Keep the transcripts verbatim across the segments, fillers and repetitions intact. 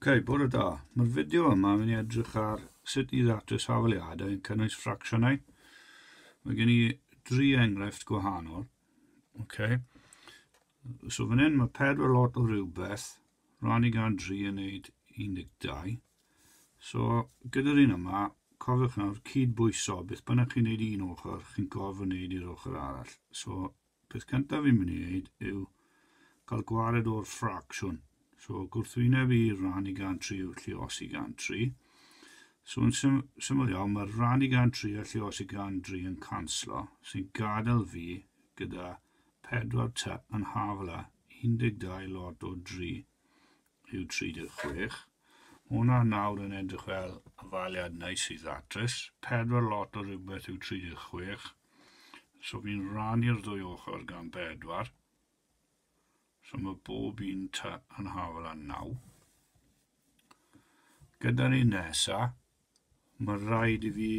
Ok, bore da. Mae'r fideo yma yn mynd i edrych ar sut i ddatrys hafaliadau yn cynnwys ffracsiynau. Mae gen i dri enghraifft gwahanol. Ok. So fan hyn mae pedwar lot o rhywbeth, rannu gan dri yn neud un deg dau. So gyda'r un yma, cofiwch nawr cydbwyso, beth bynnag chi'n neud un ochr, chi'n gorfod neud i'r ochr arall. So peth cyntaf fi'n mynd i wneud yw cael gwared o'r ffracsiwn. So gwrthwyneb i rannu gan tri yw lluosi gan tri. So yn sym syml iawn, mae rannu gan tri a lluosi gan dri yn canslo, sy'n gadael fi gyda pedwar t yn hafal â un deg dau lot o dri yw tri deg chwech. Mae hwnna nawr yn edrych fel hafaliad neis i ddatrys. Pedwar lot o rhywbeth yw tri deg chwech. So fi'n rannu'r ddwy ochr gan bedwar. So mae bob un t yn hafal â naw. Gyda'r un nesa, mae rhaid i fi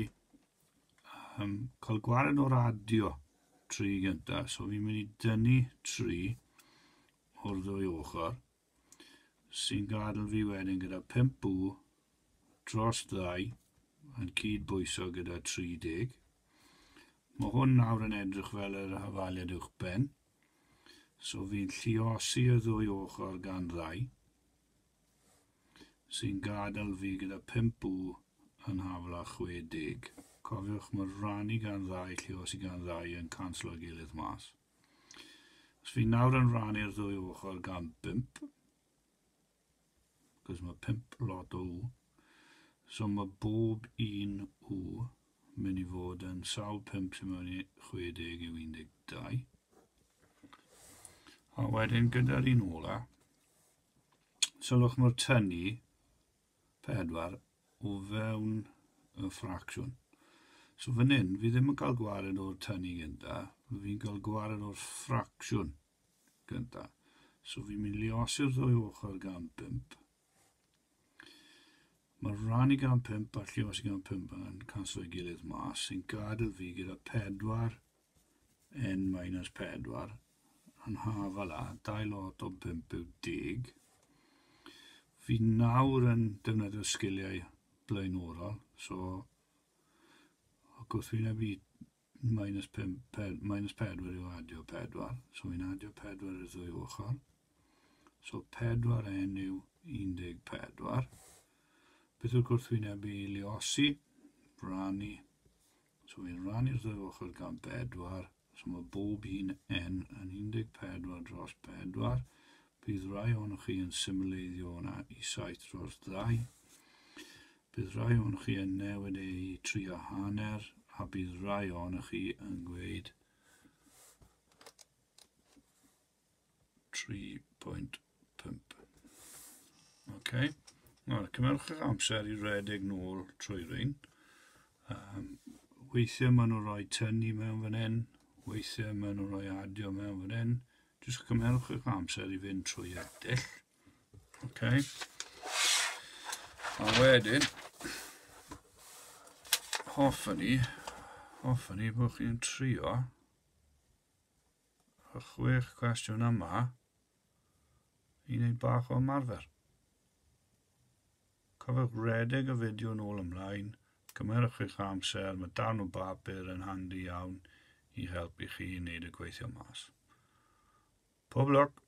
um, cael gwared o'r adio tri gynta. So fi'n mynd i dynnu tri o'r ddwy ochr, sy'n gadael fi wedyn gyda pump w dros ddau yn cydbwyso gyda tri deg. Mae hwn nawr yn edrych fel yr hafaliad uwch ben. So fi'n lluosi y ddwy ochr gan ddau, sy'n gadael fi gyda pump w yn hafal â chwe deg. Cofiwch, mae rannu gan ddau, lluosi gan ddau yn canslo gilydd mas. Os fi nawr yn rannu'r ddwy ochr gan bump, cos mae pump lot o w, so mae bob un w mynd i fod yn sawl pump sy'n mewn i chwe deg yw un deg dau. A wedyn gyda'r un ola, sylwch mae'r tynnu pedwar o fewn y ffracsiwn. So fan hyn, fi ddim yn cael gwared o'r tynnu gynta, fi'n cael gwared o'r ffracsiwn gynta. So fi'n mynd i luosi'r ddwy ochr gan bump. Mae rannu gan pump a lluosi gan pump yn canslo ei gilydd mas, sy'n gadael fi gyda pedwar n minus pedwar yn hafal â dau lot o pump yw deg. Fi nawr yn defnyddio sgiliau blaenorol, so gwrthwyneb i minus, pump, ped, minus pedwar yw adio pedwar, so fi'n adio pedwar i'r ddwy ochr. So pedwar n yw un deg pedwar. Beth yw'r gwrthwyneb i luosi? Rannu. So fi'n rannu'r ddwy ochr gan bedwar. So mae bob un n yn un deg pedwar dros pedwar. Bydd rai ohonoch chi yn symleiddio hwnna i saith dros ddau. Bydd rai ohonoch chi yn newid e i tri a hanner, a bydd rai ohonoch chi yn gweud tri pwynt pump. Ok. Nawr, cymerwch eich amser i redeg nôl trwy rhain. Um, weithiau maen nhw'n rhoi tynnu mewn fan hyn, weithiau maen nhw'n rhoi adio mewn fan hyn. Jyst cymerwch eich amser i fynd trwy y dull. Ok. A wedyn, hoffwn i, hoffwn i bod chi'n trio y chwech cwestiwn yma i wneud bach o ymarfer. Cofiwch redeg y fideo nôl ymlaen, cymerwch eich amser, mae darn o bapur yn handi iawn i helpu chi i wneud y gweithio mas. Pob lwc!